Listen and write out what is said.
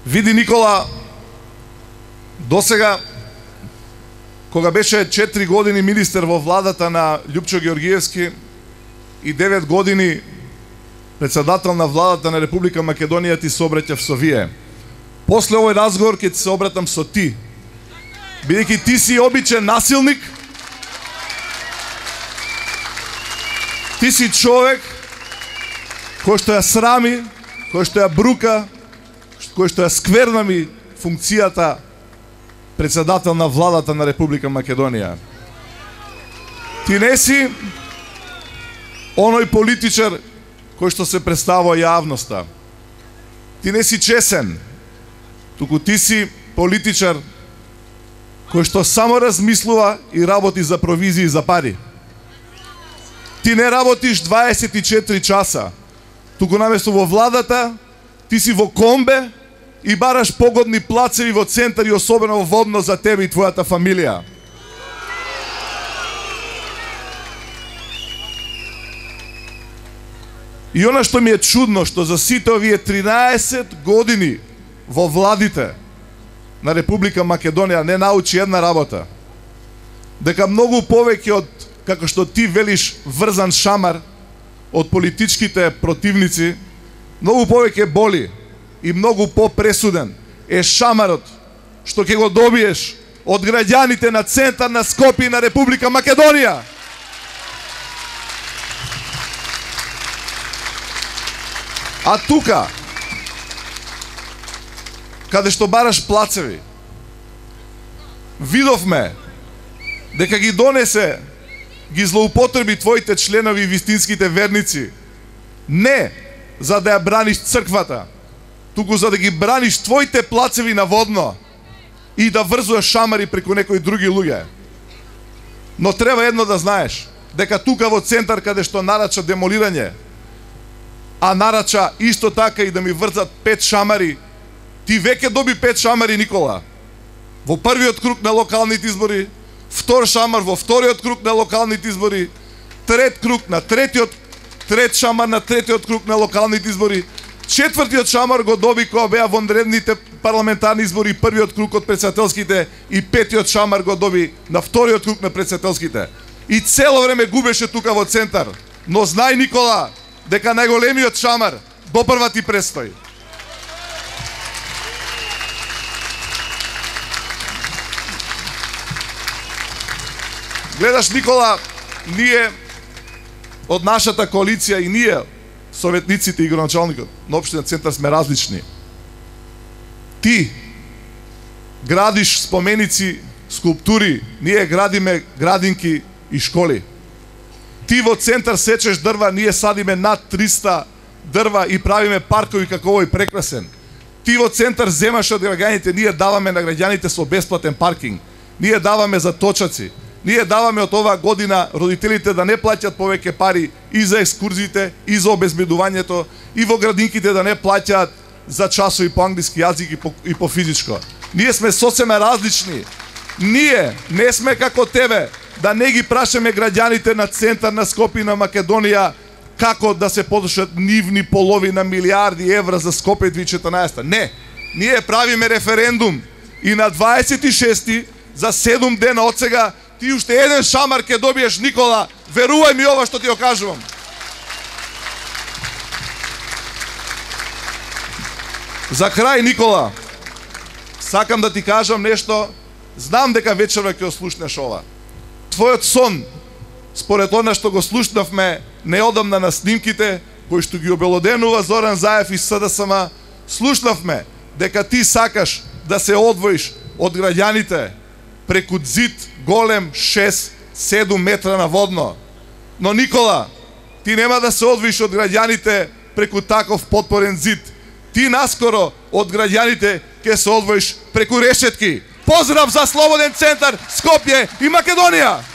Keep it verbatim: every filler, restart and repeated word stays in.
Види, Никола, досега, кога беше четири години министер во владата на Љупчо Георгиевски и девет години председател на владата на Република Македонија, ти се обраќав со вие. После овој разговор ќе ти се обратам со ти. Бидејќи ти си обичен насилник, ти си човек кој што ја срами, кој што ја брука, кој што ја сквернами функцијата председател на владата на Република Македонија. Ти не си оној политичар кој што се представува јавноста. Ти не си чесен, туку ти си политичар кој што само размислува и работи за провизии и за пари. Ти не работиш дваесет и четири часа, туку наместо во владата, ти си во комбе и бараш погодни плацеви во центар и особено водно за тебе и твојата фамилија. И она што ми е чудно, што за сите овие тринаесет години во владите на Република Македонија не научи една работа. Дека многу повеќе од, како што ти велиш, врзан шамар од политичките противници, многу повеќе боли и многу попресуден е шамарот што ќе го добиеш од граѓаните на центар на Скопје и на Република Македонија. А тука, каде што бараш плацеви, видовме дека ги донесе, ги злоупотреби твоите членови и вистинските верници, не за да ја браниш црквата, туку за да ги браниш твоите плацеви на водно и да врзуваш шамари преку некои други луѓе. Но треба едно да знаеш, дека тука во центар каде што нарача демолирање, а нарача исто така и да ми врзат пет шамари, ти веќе доби пет шамари, Никола. Во првиот круг на локалните избори, втор шамар во вториот круг на локалните избори, трет круг на третиот, трет шамар на третиот круг на локалните избори, четвртиот шамар го доби кога беа вонредните парламентарни избори, првиот круг од претседателските, и петиот шамар го доби на вториот круг на претседателските. И цело време губеше тука во центар. Но знај, Никола, дека најголемиот шамар допрва ти престои. Гледаш, Никола, ние од нашата коалиција и ние, советниците и градоначалникот на општина Центар, сме различни. Ти градиш споменици, скулптури, ние градиме градинки и школи. Ти во Центар сечеш дрва, ние садиме над триста дрва и правиме паркови како овој прекрасен. Ти во Центар земаш од граѓаните, ние даваме на граѓаните со бесплатен паркинг. Ние даваме за точаци. Ние даваме од оваа година родителите да не плаќат повеќе пари и за екскурзиите, и за обезбедувањето, и во градинките да не плаќаат за часови по англиски јазик и по, и по физичко. Ние сме сосема различни. Ние не сме како тебе, да не ги прашаме граѓаните на Центар на Скопје и на Македонија како да се потрошат нивни половина милиарди евра за Скопје две илјади и четрнаесета. Не, ние правиме референдум и на дваесет и шести за седум дена од сега ти уште еден шамар ќе добиеш, Никола, верувај ми ова што ти го кажувам. За крај, Никола, сакам да ти кажам нешто, знам дека вечерва ќе ослушнеш ова. Твојот сон, според она што го слушнавме неодамна на снимките, кои што ги обелоденува Зоран Заев и СДСМ, слушнавме дека ти сакаш да се одвоиш од граѓаните преку зид голем шест-седум метра на водно. Но, Никола, ти нема да се одвоиш од граѓаните преку таков потпорен зид. Ти наскоро од граѓаните ќе се одвоиш преку решетки. Поздрав за Слободен Центар, Скопје и Македонија!